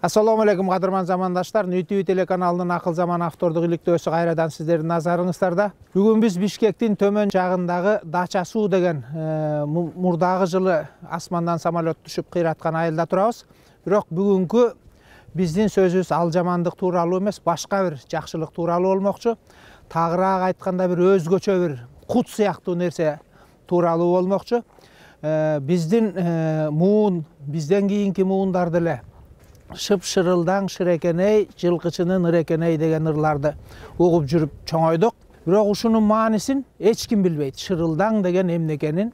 Assalomu alaykum qadrman zamandaşlar. NTV телеканалынын Акыл Заман автордук иликтөөсү кайрадан сиздердин назарыңыздарда. Бүгүн биз Бишкектин төмөн жагындагы Дача суу деген мурдагы жылы асмандан самолет түшүп кыйраткан айылда турабыз. Бирок бүгүнкү биздин сөзүбүз ал жамандык тууралуу эмес, башка бир жакшылык тууралуу болмокчу. Тагыраак айтканда бир өзгөчө бир кут сыяктуу нерсе тууралуу болмокчу. Биздин муун, бизден кийинки муундар деле шып-шырылдаң шырекеней, жылкычынын ырекеней деген ырларды угуп жүрүп чоңойдук. Бирок ушунун маанисин эч ким билбейт. Шырылдаң деген эмне экенин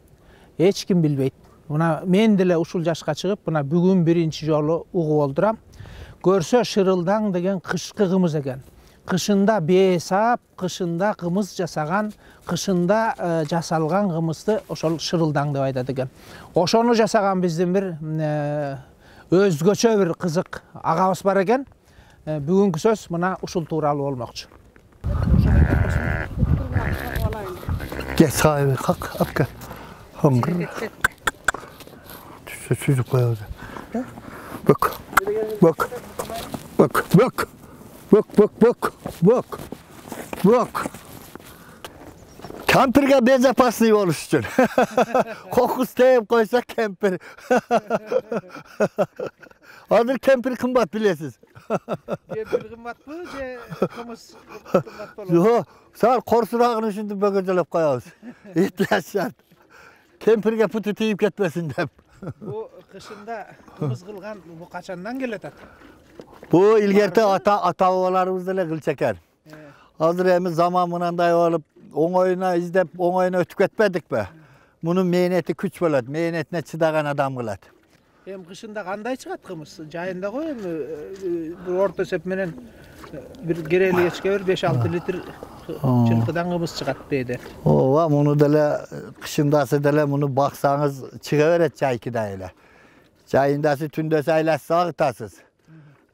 эч ким билбейт. Мына мен деле ушул жашка чыгып, мына бүгүн биринчи жолу угуп олдурам. Көрсө шырылдаң деген кышкы кымыз экен. Кышында бээ саап, кышында кымыз жасаган, кышында жасалган кымызды ошол шырылдаң деп айтат экен. Ошону жасаган биздин бир өзгөчө бир кызык агабыз бар экен. Бүгүнкү сөз мына ушул тууралуу болмокчу. Geç sahibi kalk apka. Hıngır. Çocuk koyuyor. Bak. Bak. Bak. Bak. Bak bak bak. Bak. Bak. Kampirge bezapaslı oluş için. Kokus teyip koysa kempir. Hazır kempir kımbat bilesiz. Kempir kımbat mı? Kımız kımbat olur. Yok. Sağ korsurağını şimdi bögöcelep koyarız. İhtiyaç şart. Kempirge pıtı teyip ketmesin deyip. Bu kışında kımız kılgan bu kaçandan geletat? Bu ilgerte ata-babalarımız dele kıl çeker. Hazır emiz zaman mınanday olup oňoýuna izdep oňoýuna ötüp ketmedik be. Bunun mehneti küç bolat, mehnetine çıdagan adam kılat. Hem kışında kanday çıgat kımız? Jayında koy mu? Bu orta sep menen bir gereli geçke bir 5-6 litr çırpıdan kımız çıgat beyde. Ova, bunu dele kışındası dele bunu baksanız çıkıveret çaykıda ile. Çayındası tündösü aylası ağıtasız.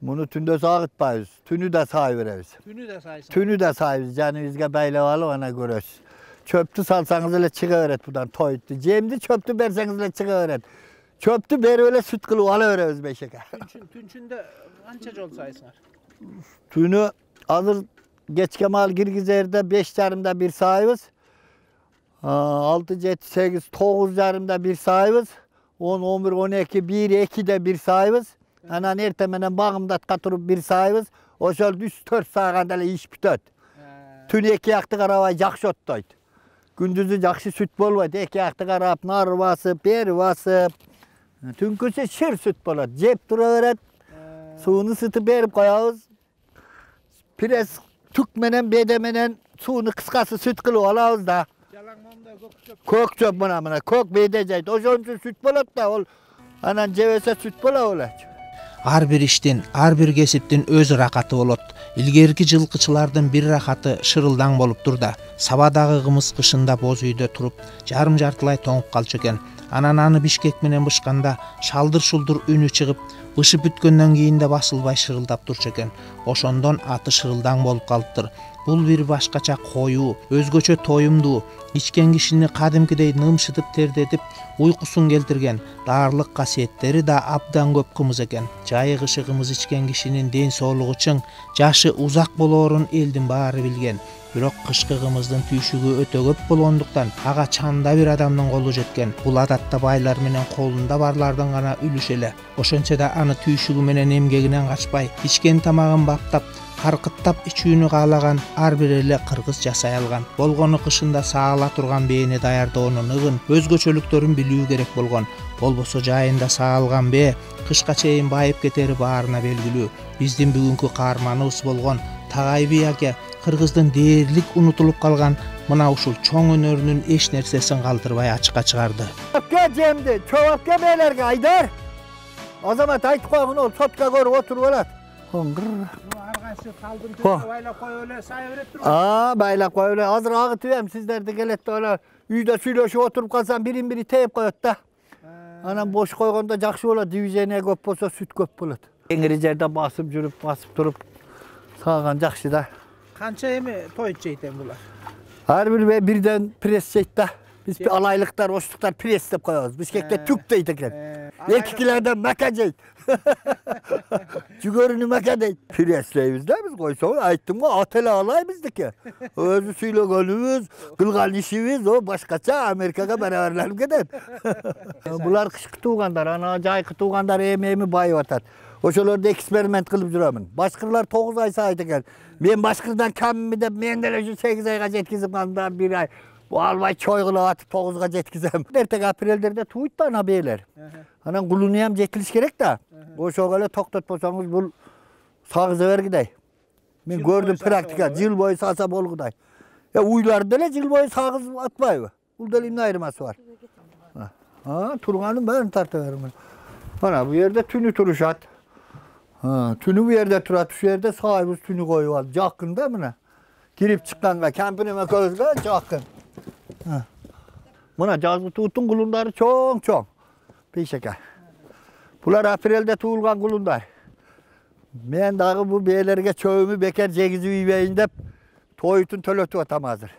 Bunu tündösü ağıtmayız. Tünü de sayıveririz. Tünü de sayısın. Tünü de sayırız. Canımızga baylawalı ona görös. Çöptü salsanız ile çıkıveret buradan toyuttu. Cemdi çöptü berseniz ile çıkıveret. Çöptü beri öyle süt kılıp alıveririz beşeke. Tünçünde ança jol sayısınlar? Tünü hazır geçke mal girgizerde 5 yarımda bir sayımız. 6, 7, 8, 9 yarımda bir sayımız. 10, 11, 12, 1, 2 de bir sayımız. Anan ertemenen bağımda katurup bir sayımız. Oşol 3-4 saat ele iş bitöt. Tün 2 yaktı karabay jakşı ottoyt. Gündüzü jakşı süt bolbayt. 2 yaktı karab nar basıp, beri basıp. Tünküsü şır süt bolat. Jep turaveret. Suunu sıtıp berip koyabız. Pires tükmenen, bedemenen suunu kıskası süt kılıp alabız da. Kök çöp buna. Kök bedejayt. Oşon üçün süt bolat da ol. Anan jebese süt bola ola. Har bir iştin, har bir kesiptin öz rakatı bolot. İlgerki жылкычылардын bir rakatı şırıldaң bolup turda. Sabadagı kımız kışında boz үйdө turup, жарым-жартылай тоңуp kalчу eken. Anan аны Бишкек менен бышканда шалдыр-шулдур үнү чыгып, бышып бүткөндөн кийин да басылбай шырылдап турчу eken. Ошондон аты шырылдаң болуп калыптыр. Бул бир башкача коюу, өзгөчө тоюмдуу, ичкен кишини кадимкидей нымшытып тердетип, уйкусун келтирген, даарылык касиеттери да абдан көп кымыз экен. Жайы кышы кымыз ичкен кишинин ден соолугу чың, жашы узак болоорун элдин баары билген. Бирок кышкы кымыздын түйшүгү өтө көп болгондуктан ага чанда бир адамдын колу жеткен. Бул адатта байлар менен колунда барлардын гана үлүшү эле. Ошончо да аны түйшүгү менен эмгегинен качпай, ичкен тамагын баптап, каркыттап ичүүнү каалаган ар бир эле кыргыз жасай алган. Болгону кышында саала турган бээни даярдоонун ыгын, өзгөчөлүктөрүн билүү керек болгон. Болбосо жайында саалган бээ кышка чейин байып кетери баарына белгилүү. Биздин бүгүнкү каарманыбыз болгон Tagay би аке кыргыздын дээрлик унутулуп калган мына ушул чоң өнөрүнүн эч нерсесин калтырбай ачыкка чыгарды. Çöpke cemdi, çöpke beylerge Aydar. Azamat aytıp koyun ol, sotka görüp oturup olat. Hıngır. Argaysı kaldın tüyü baylap koy öyle sayıverip durur. Baylap koy öyle. Hazır ağıtıyorum sizler de gelet de öyle. Үйde süylöşüp oturup kalsan birin biri teyip koyut da. Anam boş koygonda jakşı olat, diviziyene köp bolsa süt köp bolat. Engiri jerde basıp жүрүp, basıp turup sağgan jakşı da. Kança emi toyut jeyten bular? Har bir birden pres jeyt da. Biz alaylıklar, oşluklar pres dep koyabız. Bişkekte tük deyt eken. Erkeklerden maka deyt. Cügörünü maka deyt. Presleybiz de biz koysa ayttım mı atele alay bizdeki. Özü söylegenimiz, kılgan işimiz o başkaça Amerika'ga beraberlenip gider. Bular kışkı tuğandar, ana jaykı tuğandar emeğimi bayıp atar. Oşolorda eksperiment kılıp juraman. Başkırlar 9 ay sayt eken. Men başkırdan kammi de men dele 8 ayga jetkizip kandan 1 ay. Bu albay çoygulu atıp 9'ga jetkizem. Ertek aprellerde tuğut da ana beyler. Anan kulunuyam jetiliş gerek da. O şogale toktot bolsanız bul sağıza vergiday. Men gördüm praktika, jıl boyu sasa bolguday. Ya uylar dele jıl boyu sağız atmayı. Bul delimde ayırması var. Ha, turganım ben tartıverim. Ana bu yerde tünü turuşat. Ha, tünü bu yerde turat, şu yerde sahibimiz tünü koyup al. Jakın da mı ne? Girip çıkkanга, kampinime közge jakın. Mına жазgı tuğutun kulunları çoğ. Peşeke. Bular aprelde tuğulgan kulunlar. Men dağı bu beylerge çöğümü beker jegizip üybeyin dep toyutun tölötüp atam hazır.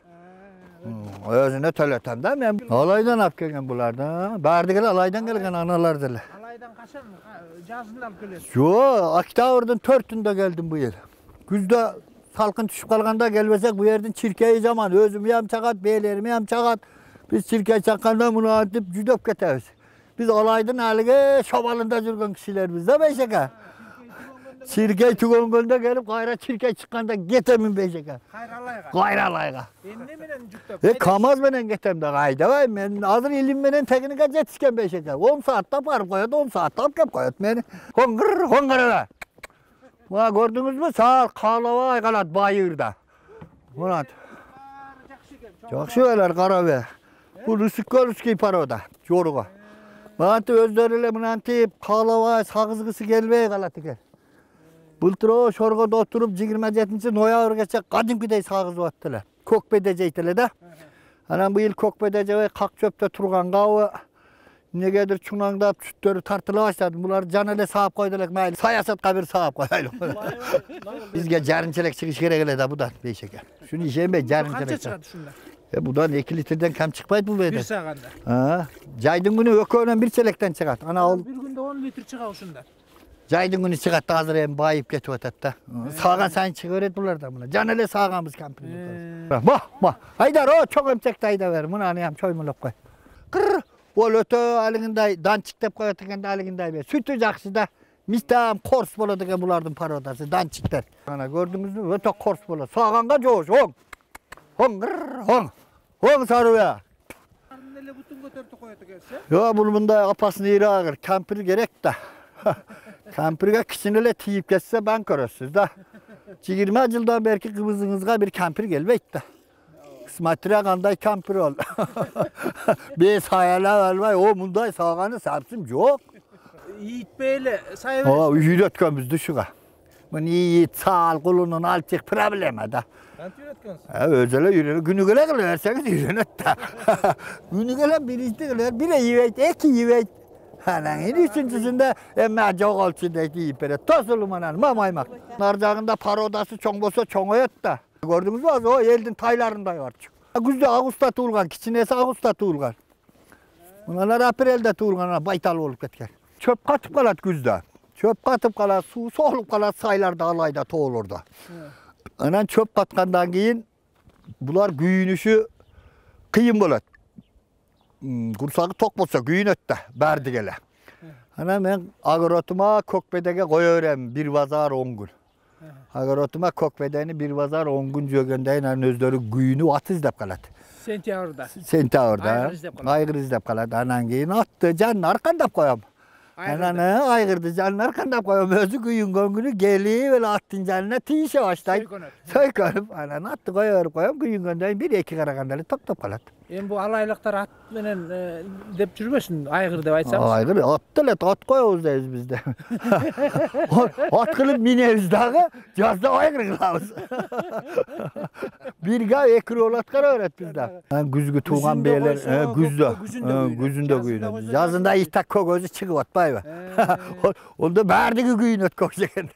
Özüne tölötem da men alaydan ap kelgen bularda. Bardygel alaydan kelgen analar dele. Alaydan kaçan жазында alıp kelesiz? Jo, oktabrдын 4-ünde geldim bu yıl. Güzde salkın düşüp kalganda gelmesek bu yerden çirkeyi zaman özümü hem çakat, beylerimi hem çakat. Biz çirkeyi çakkanda bunu atıp cüdöp ketemiz. Biz alaydın halige şobalında жүрген kişiler bizde Beşeke. Çirkeyi tügöngönde gelip gayra çirkeyi çıkkanda getemin Beşeke. Gayra alayga. Emne menen jüktөp? Kamaz menen getem de gayda vay. Men hazır ilim menen teknika jetisken Beşeke. 10 saatte barıp koyat, 10 saatte alıp kep koyat meni. Hongır. Buna gördünüz mü? Sağ kalava aygalat bayırda. Murat. Jakşı öler karabe. Bu Ruski paroda. Joruga. Murat özleriyle mınantip kalava sağızgısı gelmeye kalat eken. Bultur o şorgoda oturup 27 noyabrgacha kadimkidey sağızıp attılar. Kökbede jeytiler da. Anan bu yıl kökbede jey kak çöpte turganga o negedir çunangdap süttörü tartıla başladı. Bular can ele sağıp koydular. Mayli sayasatga bir sağıp koyalım. Bizge jarınçelek çıkış gerek ele da budan Beşeke. Şunu işeyin be jarınçelek. Kança çıkadi şunda? Budan 2 litreden kam çıkmaydı bu beyde. Bir saganda. Ha, jaydın günü ökönөн bir çelekten çıkat. Ana ol. Bir günde 10 litr çıkar şunda. Jaydın günü çıkat hazır hem bayıp ketip atat da. Sağgan sayın çıkıveret bular da buna. Can ele sağganımız kampini. Bak. Haydar o çok emçekte hayda ver. Bunu anayam çoymulap koy. Kırr. Ol ötö alığınday dançık dep koyat ekende alığınday be. Sütü jakşı da mistam kors bolot eken bulardın parodası dançıklar. Ana gördünüz mü? Ötö kors bolot. Sağganga joş. Hong sarıya. Nele butun götürüp koyat ekense? Yo bunda apasını iri ağır. Kampir gerek da. Kampirge kişinele tiyip kesse ben körösüz da. 20 yıldan belki kızınızga bir kampir gelbeyt da. Kısmetire kanday kampir ol. Biz hayaller var o munday sağganı sapsım yok. Yiğit beyle sayıverir. O yüretken biz düşüga. Bu yiğit sağ kulunun alçık problemi da. Kanti üretkensin? Özele yürüyor. Günü gele kılarseniz yürünet da. Günü gele birinci kılar. Bire yiveyt, iki yiveyt. Hanan üçüncüsünde emme çok olçundaydı yiyip bere. Tosulum anan mamaymak. Narcağında parodası çoğ bolsa çoğ öt da. Gördünüz mü? O eldin taylarında var. Güzde Ağustos tuğulgan, kiçinesi Ağustos tuğulgan. Bunlar aprelde tuğulgan, baytal olup ketken. Çöp katıp kalat güzde. Çöp katıp kalat, su soğulup kalat saylarda alayda toğulurda. Anan çöp katkandan keyin bular güyünüşü kıyın bolat. Kursağı tok bolsa güyün ötte, berdi gele. Ana men agrotuma kökbedege koyuverem bir bazar 10 gün. Agrotuma kökbedeni bir bazar 10 gün jөгөндөйүн өздөрү güyünü at izdep kalat. Sentavrda. Aygır izdep kalat. Anan keyin attı canın arkandap koyam. Ananı aygırdı canın arkandap koyam. Özü güyün göngünü geli böyle attın canına tiyişe başlayıp. Soykonup anan attı koyam güyün göndöйүн 1-2 karakandalı top kalat. Bu alaylıklar at menen dep жүрбөсүn, aygır dep aytsanız. Aygır attılet at koyabız deyiz bizde. At kılıp minemiz dağı жазda aygır kılabız. Bir gay ekri olat kara öğret bizde. Güzgü tuğan beyler güzünde güyün. Yazında ihtak kogözü çıkıp atpay be. Onda berdigi güyün öt koşaken.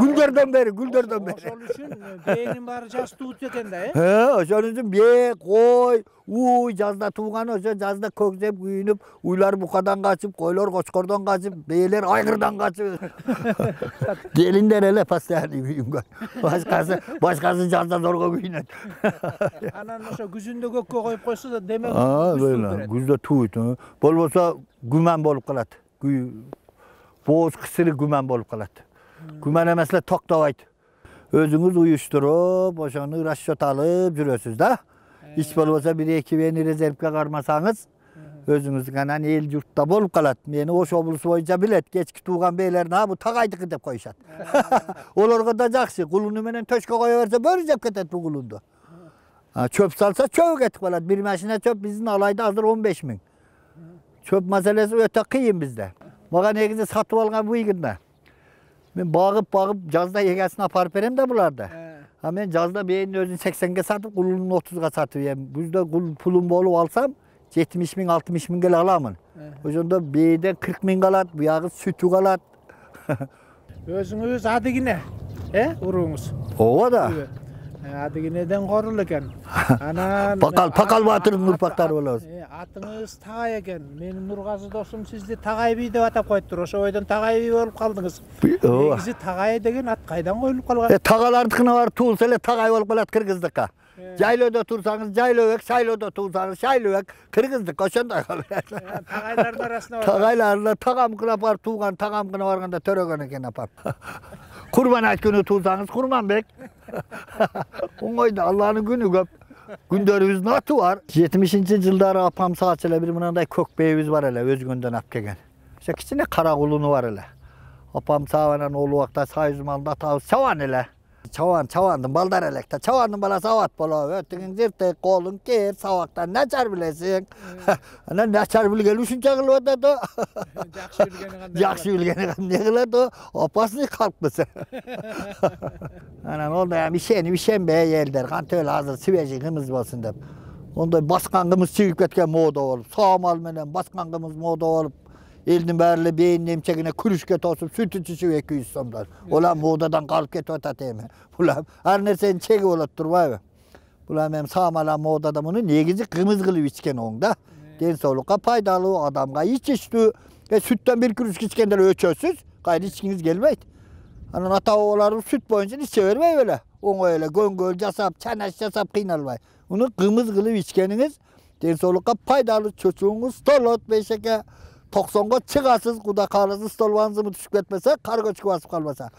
Güldörden beri. Oşol üçün beynin bari jas tuğut eken da. Oşol üçün bey, koy, жазда тууган ошо жазда көксеп күйүнүп, уйлар букадан качып, койлор кочкордон качып, бээлер айгырдан качып. Келиндер эле постоянный күйүнгөн. Башкасы жазда зорго күйүнөт. Анан ошо күзүндө көккө коюп койсо да демек күздө туйт. Болбосо күмөн болуп калат. Бооз кысыры күмөн болуп калат. Күмөн эмес эле токтобойт. Өзүңүз уюштуруп, ошону расчет алып жүрөсүз да. Ич болбосо 1-2 бени резервге кармасаңыз, өзүңүз анан эл журтта болуп калат. Мени Ош облусу боюнча билет, кечки тууган бейлерин бу тагайдыкы деп коюшат. Олорго да жакшы, кулуну менен төшкө кое берсе бөрү жеп кетет бу кулунду. Чөп салса чөбү кетип калат. Бир машина чөп биздин алайда азыр 15 000. Чөп маселеси өтө кыйын бизде. Мага негизи сатып алган буйгунда. Мен багып жазда эгесин апарып берем да буларды. Мен жазда бээнин өзүн 80ге сатып, кулунун 30га сатып берем. Күздө пулум болуп алсам 70 000, 60 000 келе аламын. Ошондо бээден 40 000 калат, буягы сүтү калат. Өзүңүз адыгине, урууңуз? Ооба да. Адыгинеден корул экен. Анан Пакал Батырдын урпактары болобуз. Атыңыз Тагай экен. Менин Нургазы досум сизди Тагай бий деп атап коюптур. Ошо бойдон Тагай бий болуп калдыңыз. Негизи Тагай деген ат кайдан коюлуп калган? Тагалардыкына барып туулса эле Тагай болуп калат кыргыздыкка. Жайлоодо турсаңыз жайлообек, шайлоодо турсаңыз шайлообек, кыргыздык ошондой калат. Тагайлардын арасына бар. Тагайларда тагамгына барып тууган, тагамгына барганда төрөгөн экен апам. Курбан айт күнү турсаңыз Курманбек. Оңойду, Алланын күнү көп. Күндөрүбүздүн аты бар. 70-жылдары апам саат эле бир мындай көк бээбиз бар эле, өзгөндөн алып келген. Ошо кичине кара кулуну бар эле. Апам саабанан ол убакта Союз малында атабыз Чабан эле. Чабандын балдары элек да. Чабандын баласы абат болобу. Өтүңүң жыртык, колуң кер, сабактан начар билесиң. Анан начар билгени ушунча кылып атат. Жакшы билгени кандай кылат о? Опасный калпкысы. Анан онда ишенбей элдер, кантип эле азыр свежий кымыз болсун деп. Ондай баскан кымыз чыгып кеткен мода болуп, саамал менен баскан кымыз мода болуп, элдин баары эле бээнин эмчегине күрүшкө тосуп, сүт ичишип 200 сомдон. Улам модадан калып кетип атат эми. Улам ар нерсенин чеги болот турбайбы? Улам эми саамал модада муну негизи кымыз кылып ичкен оң да. Ден соолукка пайдалуу, адамга ичиштүү. Сүттөн бир күрүшкө ичкенде өчөсүз, кайра ичкиңиз келбейт. Анан ата-бабаларыбыз сүт боюнча иче бербей беле. Оңой эле көңгөл жасап, чанаш жасап кыйналбай. Муну кымыз кылып ичкениңиз ден соолукка пайдалуу, чочуңуз толот бейшеке. 90га чыгасыз, куда кааласа стол ванзымы түшүп кетпесе, кар көчкү басып калбаса.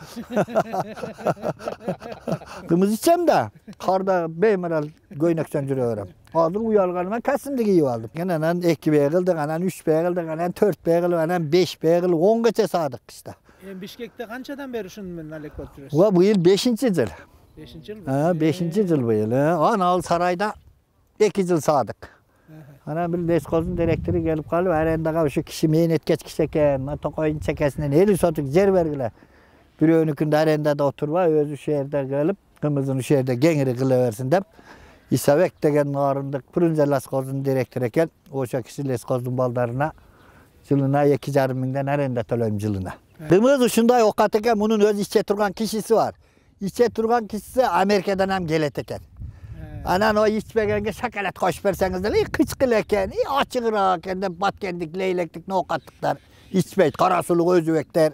Кымыз ичем да, карда беймарал көйнөкчөн жүрө берем. Азыр уялганыма касымды кийип алдым. Анан 2 бей кылдык, анан 3 бей кылдык, анан 4 бей кылып, анан 5 бей кылып, 10гача саадык кышта. Бишкекте канчадан бери ушуну менен алек болуп жүрөсүз? Быйыл 5-жыл. 5-жыл? 5-жыл быйыл. Анал сарайда 2 жыл саадык. Анан бир лескоздун директору келип калып, арендага ушу киши мээнеткеч киши экен, токойдун чекесинен 50 сотук жер бергиле. Бирөөнүкүндө арендада отурбай, өзү ушул жерде келип, кымызын ушул жерде кеңири кыла берсин деп, Исабек деген нарындык Прунзе лескоздун директору экен. Ошо киши лескоздун балдарына жылына 2,5 миңден аренда төлөйм жылына. Кымыз ушундай окат экен, мунун өзү иче турган кишиси бар. Иче турган кишиси Америкадан ham келет экен. Анан о ичпегенге шоколад кошуп берсеңиз деле кычкыл экен, ачыгыраак экен деп баткендик, лейлектик, ноокаттыктар ичпейт, кара сулук өзүбектер.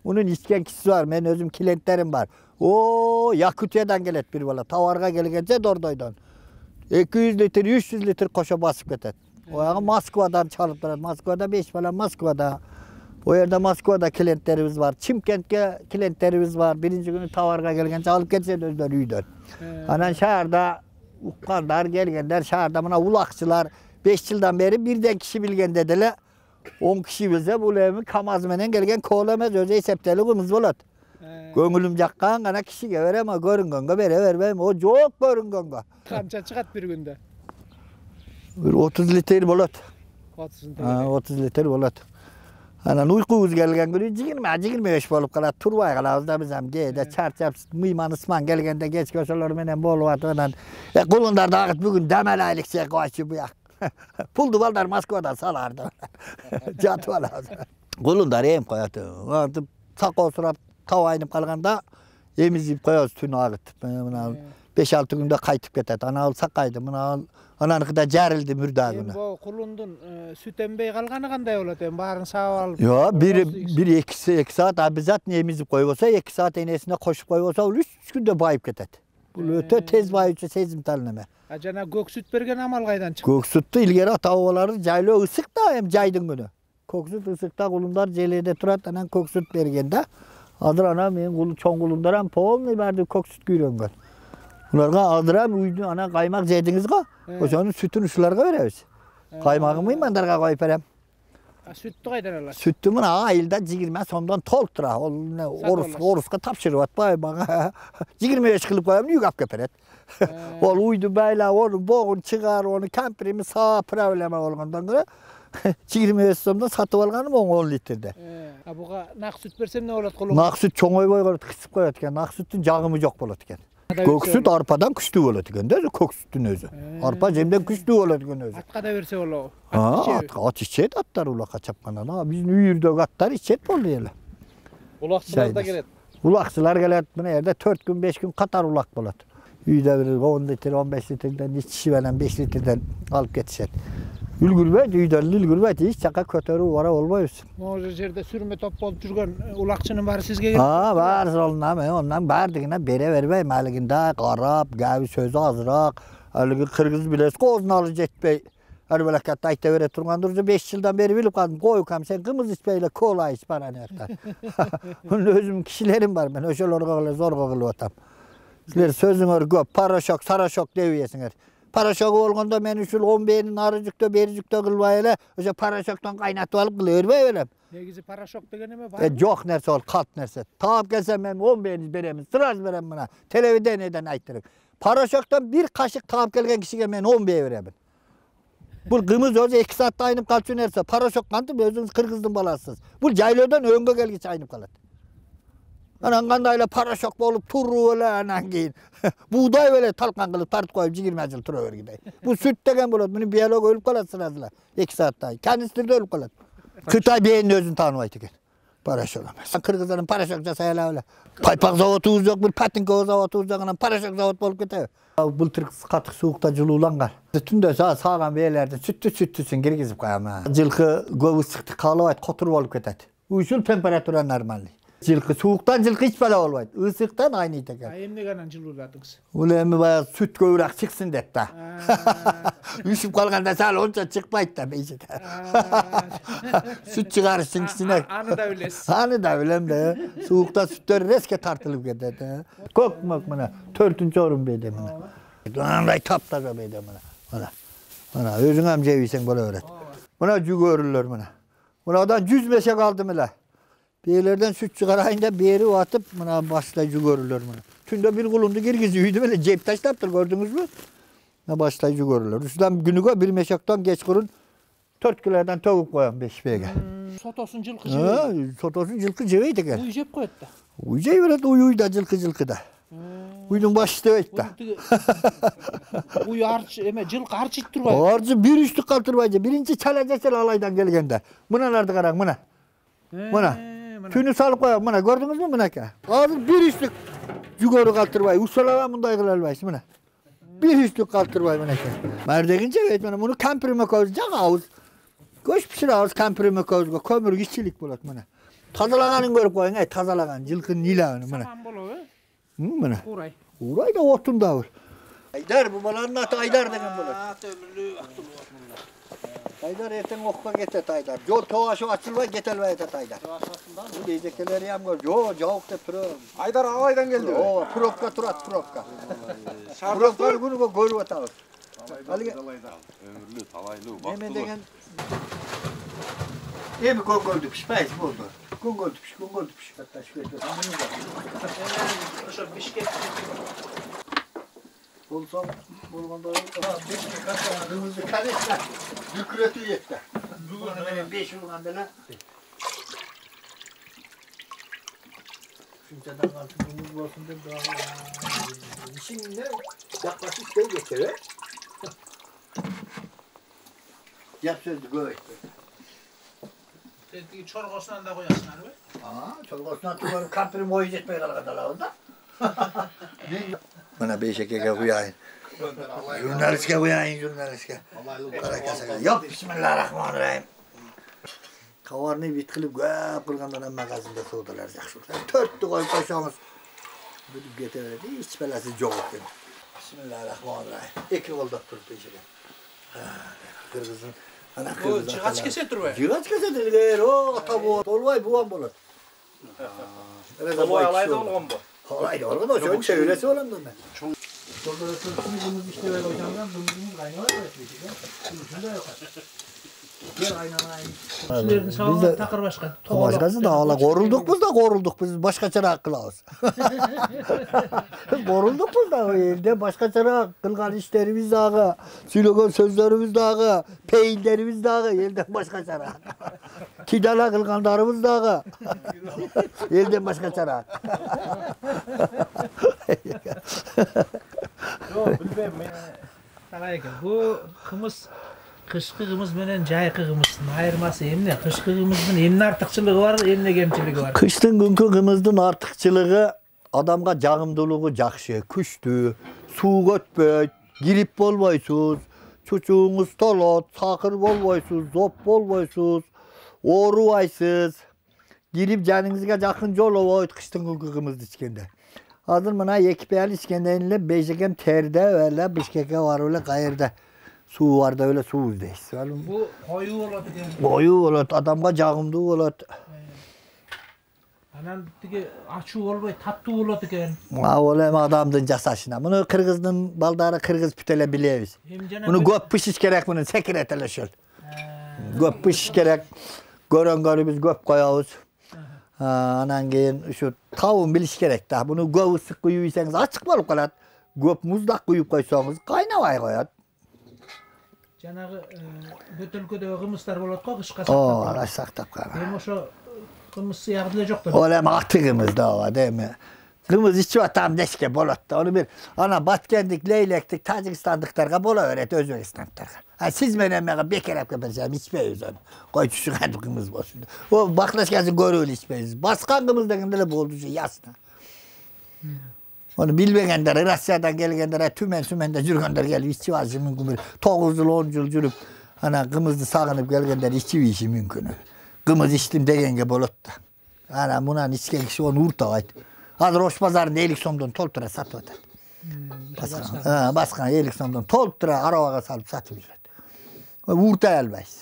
Мунун ичкен кишиси бар, мен өзүм клиенттерим бар. Якутиядан келет бир бала, товарга келгенче Дордойдон. 200 литр, 300 литр кошо басып кетет. Оягы Москвадан чалып турат. Москвада 5 бала Москвада. O yerде Москвада клиенттерибиз бар, Чимкентке клиенттерибиз бар. Биринчи күнү товарга келгенче алып кетишет өздөрү үйдөн. Анан шаарда уккандар, келгендер, шаарда мына улакчылар 5 жылдан бери бирден киши билгенде деле 10 киши билсе, бул эми КамАЗ менен келген кол эмес, өзү эсептелүү кымыз болот. Көңүлүм жаккан гана кишиге берем, көрүнгөнгө бере бербейм. О жок көрүнгөнгө. Канча чыгат бир күндө? 30 литр болот. 30 литр болот. Анан уйкубуз келген күнү 20-25 болуп калат, турбай калабыз да биз ham кээде чарчап, мыйман ысман келгенде кечке ошолор менен болуп атып анан кулундар дагы бүгүн дем алайлыкчы койчу буяк. Пулду балдар Москвадан саларды. Жатып алабыз. Кулундар эм коёт. Антип сакоо сурап тав айнып калганда эмизип коебуз түнү агытып. Мына 5-6 күндө кайтып кетет. Аны алсак кайды. Мына ананыкы да жарылды мурдагына. Бу кулундун сүт эмбей калганы кандай болот эми? Баарын саап алып. Yo, 1-2 saat обязательно emizip koybolsa, 2 saat enesine koşup koybolsa, ol 3 günde bayıp ketet. Bu öte tez bayıpçı sezimtal neme. Жана көк сүт берген амал кайдан чыкты? Көк сүттү илгери ата-бабалары жайлоо ысык да, эми жайдын күнү. Көк сүт ысыкта кулундар желеде турат, анан көк сүт берген да. Азыр ана менин чоң кулундарам полный барды көк сүткө үйрөнгөн. Буларга адырам үйдү ана каймак жедиңиз го, ошонун сүтүн ушуларга беребиз. Каймагымы мындарга коюп берем. Сүттү кайдан аласыз? Сүттү мына айылда 20 сомдон толтура. Ол Оруска тапшырып атпайбы мага. 25 кылып коем, үйгө алып келип берет. Ол уйду байлап, onu богун чыгар, onu кампирими саа проблема болгондон көрө 25 сомдон сатып алганым 10 литрде. Буга нак сүт берсем эмне болот колум? Нак сүт чоңойбой калат, кысып коет экен. Нак сүттүн жагымы жок болот экен. Көк сүт арпадан күчтүү болот экен да, көк сүттүн өзү. Арпа жемден күчтүү болот экен өзү. Атка да берсе болобу? Ат ичет, аттар улакка чапкандан. Биздин үйүрдөгү аттар ичет болду эле. Улакчылар да келет. Улакчылар келет. Мына жерде 4 күн 5 күн катар улак болот. Үйдө бир 10 литр, 15 литрден ичиши менен 5 литрден алып кетишет. Үлгүрбөйт, үйдөн үлгүрбөйт, эч жака көтөрүп бара болбойбуз. Могу жерде сүрмө топ болуп жүргөн улакчынын баары сизге келет. Баары ондан баардыгына бере бербейм. Алыгында карап, гәби сөзү азыраак, алыгы кыргыз билесиз, козуналы жетпей. Арбалакатта айта бере тургандыр, 5 жылдан бери билип калдым. Койкам, сен кымыз ичпей эле кола ич бар анакта. Мунун өзүм кишилерим бар, мен ошолорго эле зорго кылып атам. Силер сөзүңөр көп, порошок, сарашок деп ийесиңер. Порошогу болгондо мен ушул 11-ин ары жүктө, бери жүктө кылбай эле, ошо порошоктон кайнатып алып кыла бербей белем. Негизи порошок деген эме бар? Жок нерсе ол, калп нерсе. Таап келсем мен 11-ин беремин, сразу берем мына. Телевидениеден айттырып. Порошоктон bir кашык таап келген кишиге мен 10 беремин. Бул кымыз өзү 2 саатта айнып калчу нерсе. Порошок кантип өзүңүз кыргыздын баласысыз. Бул жайлоодон өңгө келгиче айнып калат. Анан кандай эле порошок болуп туруп эле анан кийин буудай эле талкан кылып тартып коюп 20 жыл тура бергидей. Бул сүт деген болот. Мунун биолог өлүп калат сразу эле 2 саатта. Канистрде өлүп калат. Кытай бээнин өзүн тааныбайт экен. Порошок эмес. Кыргыздар порошок жасай алабы эле. Пайпак заводубуз жок, бир патинка заводубуз жок, анан порошок завод болуп кетеби. Былтыр катык суукта жылууланган. Түндө сааган бээлерди сүттүсүн киргизип коем. Жылкы көп ысыкты каалабайт, котур болуп кетет. Ушул температура нормальный. Жылкы сууктан жылкы эч бала болбойт. Ысыктан айныйт экен. Эмнеге анан жылууладыңыз? Бул эми баягы сүт көбүрөөк чыксын деп да. Үшүп калганда сал ончо чыкпайт да бейшик. Сүт чыгарыштын кичине. Аны да билесиз. Аны да билем да. Суукта сүттөр резке тартылып кетет. Көк мөк мына 4-орун бейде мына. Андай таптаза бейде мына. Мына өзүң жебисең боло берет. Мына жүгөрүлөр мына. Мунадан 100 мешек алдым эле. Бээлерден сүт чыгарайын деп берип атып, мына баштай жүгөрүлөр мына. Түндө бир кулунду киргизип үйдү эле жеп таштаптыр, көрдүңүзбү? Мына баштай жүгөрүлөр. Ушудан күнүгө бир мешектен кечкурун 4 килодан төгүп коем бешпеге. Сотосун жылкы жебейт. Сотосун жылкы жебейт экен. Уй жеп коет да. Уй жей берет, уй да жылкы да. Уйдун башы дебейт да. Уй арчы эме жылкы арчыйт турбайбы? Арчы бир үчтүк калтырбайчы. Биринчи чала жесел алайдан келгенде. Мыналарды караң, мына. Мына. Түнү салып коем, мына көрдүңүзбү мынакей. Азыр бир үчтүк жүгөрү калтырбай, усалаба мындай кыла албайсыз мына. Бир үчтүк калтырбай мынакей. Мардегин жебейт мына, муну кампирмекөбүз жагабыз. Көч пиширабыз кампирмекөбүзгө, көмүр кичилик болот мына. Тазалаганын көрүп коюң, тазалаган жылкынын илагын мына. Сапан болобу? Мына. Урай. Урай да отунда бул. Айдар, бу баланын аты Айдар деген болот. Өмүрлүү актылуу мында. Айдар эртең окуга кетет Айдар. Жол тоошуп ачылбай кете албай атат Айдар. Бул эжекелери ham жок деп турат. Айдар абайдан келди. Ооба, пробка турат, пробка. Пробканы күнүгө көрүп атабыз. Өмүрлүү, талайлуу, бактылуу. Эме деген эми көңгөлдү пишпейт болду. Көңгөлдү пиш. Ошо Бишкек. Болсоң болгондо Бишкек катагыбызды канешна бүкүрөтүп жетти. Бүгүн менен 5 урганда эле. Шунчадан калтырыбыз болсун деп ишиңне жакпасы иштей кетти, Жап сөздү көп айтпайт. Тетиги чоргосунан да коясыңарбы? Чоргосунан түгөрүп кампирим ою жетпей калган алабыз да. Mana Beyşeke'ye koyayım. Jurnalistke koyayım, jurnalistke. Yok, bismillahirrahmanirrahim. Kavarını bitkilip göp kılgandan magazinde soğudular yaxşı. Törttü koyup koysanız. Bilip getirdi, hiç belası yok etti. Bismillahirrahmanirrahim. İki oldu durdu Beyşeke. Kırgızın. Ana kırgızın. Bu cıgaç kesedir be. Cıgaç kesedir. O ata bu. Dolvay buğan bulur. Dolvay alaydı olgan bu. Alaydı olgan o. Şöyle çeviresi olan da. Doldurursun, kumuzumuz işte böyle hocamdan, kumuzumuz kaynağı var mı? Şunda yok. Gel kaynanayım. Sizlerin sağlığı takır başka. Başkası da Allah korulduk biz başkaça kılağız. Korulduk biz da elde başkaça kılgan işlerimiz dağı, söylegen sözlerimiz dağı, peyillerimiz dağı elden başkaça. Kidala kılganlarımız dağı. Elden başkaça. Yok bilmem men. Bu kımız kışkı kımız menen jaykı kımыздын айырмасы эмне? Kışkı kımыздын эмне артыкчылыгы бар, эмне кемчилиги бар? Kıştın günkü kımыздın artıkçılığı adamga jagımdılığı jakşı, küçtü, su götpöy, girip bolboysuz, çuçuğunuz tolot, sakır bolboysuz, zop bolboysuz, orubaysız, girip canınızga jakın joloboyt kıştın günkü kımızdı içkende. Hazır mına ekipeyal içkendenle Beyşekem terde öyle Bişkek'e var öyle kayırda. Su var da öyle su izdeyiz. Bu koyu bolot eкен. Koyu bolot, adamga jagımdуу bolot. Anan tigi açуу bolboy, tattуу bolot eкен. Ol эми adamdын жасашына. Муну кыргыздын балдары кыргыз бүтеле билебиz. Муну көп пишиш керек, муну секирет эле ошол. Көп пишиш керек. Көрөнгөнүбүз көп коебуз. Анан кийин ушу табын билиш керек да. Муну көп ысык куюп ийсеңиз ачык болуп калат. Көп муздак куюп койсоңуз кайнабай коет. Жанагы бөтөлкөдөгү кымыздар болот го кышка сактап. Ара сактап калган. Эми ошо кымыз сыягы деле жок да. Ол эми аты кымыз да ооба эми. Кымыз ичип атам дешке болот да. Ону бир ана Баткендик, Лейлектик, Тажикстандыктарга боло берет, Өзбекстандыктарга. Siz менен мага бекер алып келсем ичпейбиз ону. Койчу шуган кымыз болсун. О баклашкасын көрүп эле ичпейбиз. Башка кымыз деген деле болду ушу ясно. Onu bilmegender, Rusya'dan gelgenler, tümen-tümende жүргөндөр gelip içip alışı mümkün. 9 yıl, 10 yıl жүрüp, ana kımızdı sağınıp gelgenler içip işi mümkün. Kımız içtim degenge bolot da. Ana bunan içken kişi onu urtağaydı. Hazır Oş pazarında 50 somdan toltura satıp atar. Baskan 50 somdan toltura arabaga salıp satıp жүрөт. Urtay albayız.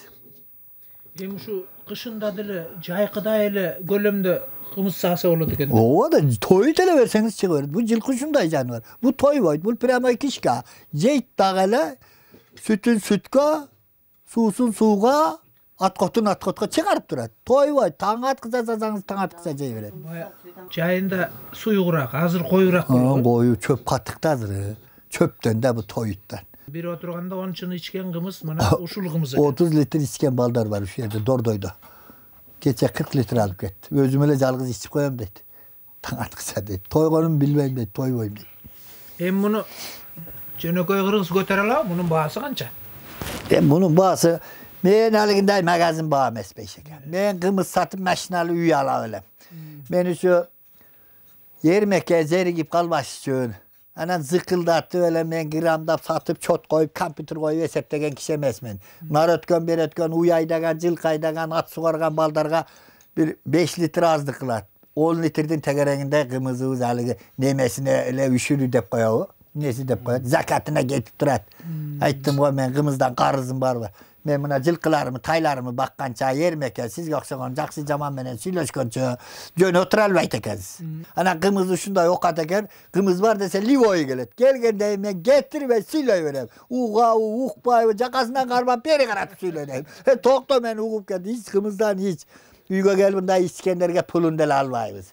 Эми şu kışında dele, jaykıda ele gölömdö kımız sağsa bolot eken. Ооба да той деле берсеңиz чыга берет. Бул жылкы ушундай жаныбар. Бул тойбойт, бул прямо кишка. Жейт дагы эле сүтүн сүткө, суусун сууга, аткотун аткотко чыгарып турат. Тойбойт, таң аткыза сазаңыз таң аткыза жей берет. Жайында суюгураак, азыр коюраак болот. Кою чөп каттыкта азыр. Чөптөн да бу тоюттан. Бир отурганда 10 чын ичкен кымыз мына ушул кымыз. 30 литр ичкен балдар бар ушул жерде Дордойдо. Geçe 40 litre alıp gitti. Özüm öyle жалгыз içip koyam dedi. Taң atkısa dedi. Toygonum bilmeyim dedi. Toyboyum dedi. Hem bunu jönököy kırgız götüre ala, bunun bahası kança? Bunun bahası men aliginde magazin bağı emas Beyşekem. Men kımız satıp maşinalı uy ala ölem. Men şu yermekке zerigip kalbaş üçün. Anan zıkıldattı öyle men gramdap satıp çot koyup, kompüter koyup eseptegen kişi emasmen. Nar ötkön, ber ötkön, uy aydagan, жылкы aydagan, at sugargan baldarga bir 5 litre azdı kılat. 10 litreden tegerenginde kımızımız alıgı nemesine öyle üşürü dep koyağı. Nesi dep koyağı? Zakatına getip durat. Ayttım koy men kımızdan qarızım var mı? Men buna жылкыларымы, тайларымы bakkança yermekке siz yoksagon jakşı jaman menen süйлөшкөнчө жөн otura albayt ekенsiz. Ana kımız uşunday okat eken, kımız var dese livoyu gelet. Gelgende men getirip süylöy berem. Uğa uqpay jakasından qarmap beri qaratып süylöydüm. Tokto men uğup geldi hiç kımızdan hiç. Uyga gelbinde İskenderge pulun dele albayız.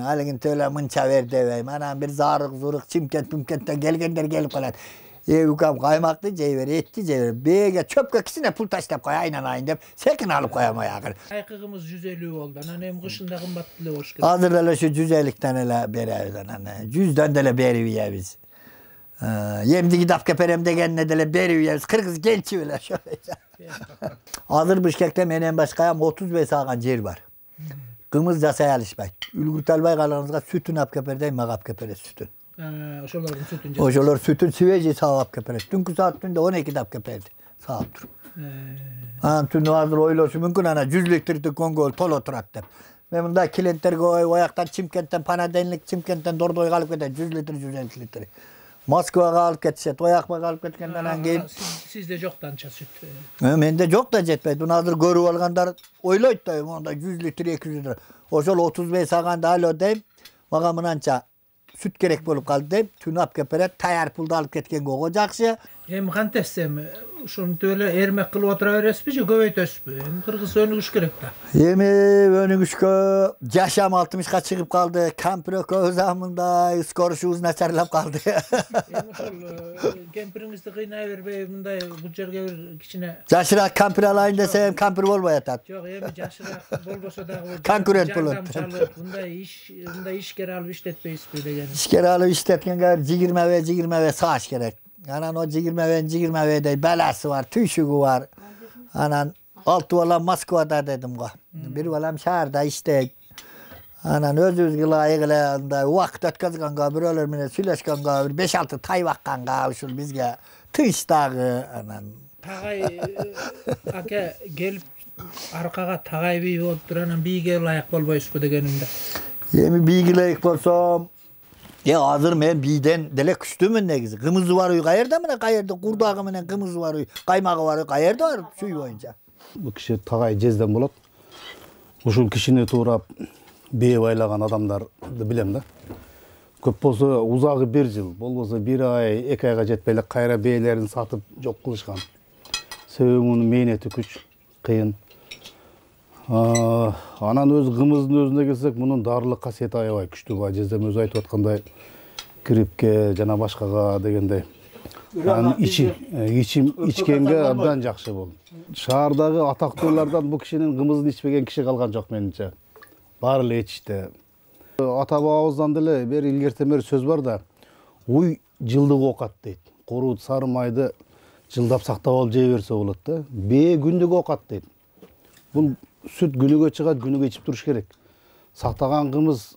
Aligin töle mınça ver deveyim. Anam bir zarık zuruk Çimkent gelgenler gelip kalat. Ukam kaymaklı ceyver, etli ceyver. Bege çöpke kisine pul taşlap koy aynan dep. Sekin alıp koyam ayakır. Aykıgımız 150 oldu. Anem kışında kımbat dile hoş geldin. Hazır ele şu 150'den ele beriyiz anane. 100'den dele beriyiz. Yemdi gidap keperem degenne dele beriyiz. Kırgız gençi öyle şöyle. Hazır Bişkek'te menen başkayam 35 sağan yer var. Kımız jasay alışbay. Ülgürt albay kalanızga sütün ap keperdey, mağap kepere sütün. Ошолордун сүтүн Ошолор сүтүн свежий саап алып келип берет. Түнкү саат түндө 12'de алып келип берди. Саап туруп. Анан түнү азыр ойлошу мүмкүн ана 100 литрдик көңгөл толо турат деп. Мен мындай клиенттерге ояктан Чимкенттен, Панаденлик Чимкенттен Дордойго алып кетет 100 литр, 150 литр. Москвага алып кетишет, оякка алып кеткенден кийин сизде жок данча сүт. Менде жок да жетпейт. Буну азыр көрүп алгандар ойлойт да, монда 100 литр, 200 литр. Ошол 35 саганда алё дейм, мага мынанча сүт керек болуп калды дейм, түнү алып келип берет, таяр пулду алып кеткенге ого жакшы. Эми кантесем, ушинтип эле эрмек кылып отура бересизби же көбөйтөсүзбү? Эми кыргыз өнүгүш керек да. Эми өнүгүшкө жашам 60ка чыгып калды, кампир экөөбүз мындай скорушубуз начарлап калды. Эми ошол кемпириңизди кыйнай бербей, мындай бул жерге бир кичине Жашыраак кампир алайын десем, кампир болбой атат. жок, эми жашыраак болбосо дагы Конкурент болот. Мындай ишкер алып иштетпейсизби деген. Ишкер алып иштеткенге 20 сааш керек. Анан о 20 баласы бар, түйшүгү бар. Анан 6 балам Москвада дедим го. Бир балам шаарда иштейт. Анан өзүбүзгө ылайык эле андай убакыт өткөзгөнгө, бирөөлөр менен сүйлөшкөнгө, бир 5-6 тай бакканга ушул бизге тынч дагы. Анан Тагай аке келип аркага тагай бий болуп туруп анан бийге ылайык болбойсузбу дегенимде. Эми бийге ылайык болсом, азыр мен бийден деле күчтүүмүн негизи. Кымызы бар үй каерде мына, каерде курдагы менен кымызы бар үй, каймагы бар үй каерде бар сүй боюнча. Бул киши тагай жезден болот. Ушул кишини туурап бээ байлаган адамдарды билем да. Көп болсо узагы 1 жыл, болбосо 1 ай, 2 айга жетпей эле кайра бээлерин сатып жок кылышкан. Себеби мунун мээнети күч, кыйын. Анан өз кымыздын өзүнө келсек, мунун дарылык касиети аябай күчтүү. Баа жездем өзү айтып аткандай, гриппке жана башкага дегендей. Анан ичкенге абдан жакшы болду. Шаардагы атактуулардан бул кишинин кымызын ичпеген киши калган жок менимче. Баары эле ичти. Ата бабабыздан деле бери илгертен бери сөз бар да, уй жылдык оокат дейт. Курут сары майды жылдап сактап алып жей берсе болот да. Бээ күндүк оокат дейт. Бул сүт күнүгө чыгат, күнүгө ичип туруш керек. Сактаган кымыз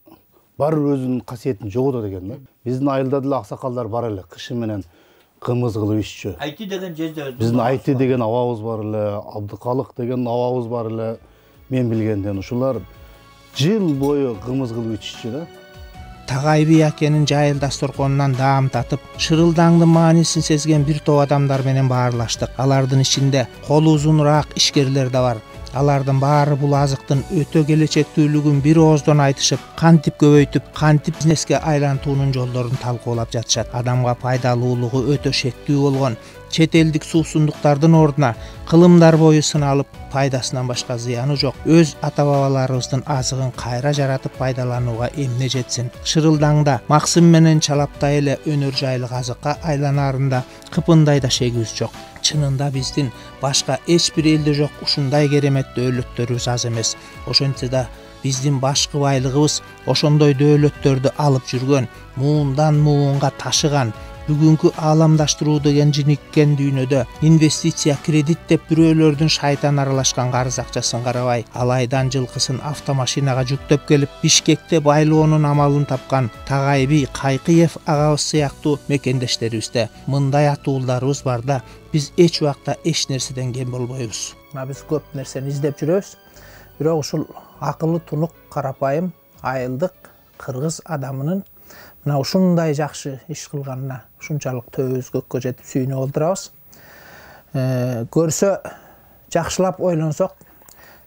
бар өзүнүн касиетин жоготот экен да. Биздин айылда деле аксакалдар бар эле, кышы менен кымыз кылып иччү. Айти деген жезде. Биздин Айти деген абабыз бар эле, Абдыкалык деген абабыз бар эле. Мен билгенден ушулар жыл бою кымыз кылып иччү да. Тагай бий акенин жайыл дасторконунан даам татып, шырылдаңдын маанисин сезген бир топ адамдар менен баарлаштык. Алардын ичинде колу узунураак ишкерлер да бар. Алардын баары бул азыктын өтө келечектүүлүгүн бир ооздон айтышып, кантип көбөйтүп, кантип бизнеске айлантуунун жолдорун талкуулап жатышат. Адамга пайдалуулугу өтө шектүү болгон чет элдик суусундуктардын ордуна кылымдар бою сыналып, пайдасынан башка зыяны жок өз ата-бабаларыбыздын азыгын кайра жаратып пайдаланууга эмне жетсин. Шырылдаңда максым менен чалаптай эле өнөр жайлык азыкка айланаарында кыпындай да шегибиз жок. Чынында биздин башка эч бир элде жок ушундай керемет дөөлөттөрүбүз аз эмес. Ошентсе да биздин башкы байлыгыбыз ошондой дөөлөттөрдү алып жүргөн, муундан муунга ташыган. Бүгүнкү ааламдаштыруу деген жиниккен дүйнөдө инвестиция, кредит деп бирөөлөрдүн шайтан аралашкан карыз акчасын карабай, алайдан жылкысын автомашинага жүктөп келип, Бишкекте байлоонун амалын тапкан Тагай бий Кайкыев агабыз сыяктуу мекендештерибизде мындай атуулдарыбыз бар да, биз эч убакта эч нерседен кем болбойбуз. Биз көп нерсени издеп жүрөбүз. Бирок ушул акылы тунук, карапайым, айылдык кыргыз адамынын мына ушундай жакшы иш кылганына ушунчалык төбөбүз көккө жетип сүйүнүп олтурабыз. Көрсө жакшылап ойлонсок,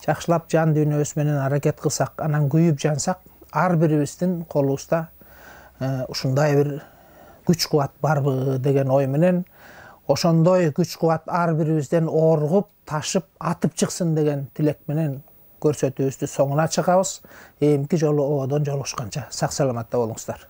жакшылап жан дүйнөбүз менен аракет кылсак, анан күйүп жансак, ар бирибиздин колубузда ушундай бир күч кубат барбы деген ой менен, ошондой күч кубат ар бирибизден оргуп, ташып, атып чыксын деген тилек менен көрсөтүүбүздү соңуна чыгабыз. Эмки жолу ободон жолугушканча сак саламатта болуңуздар.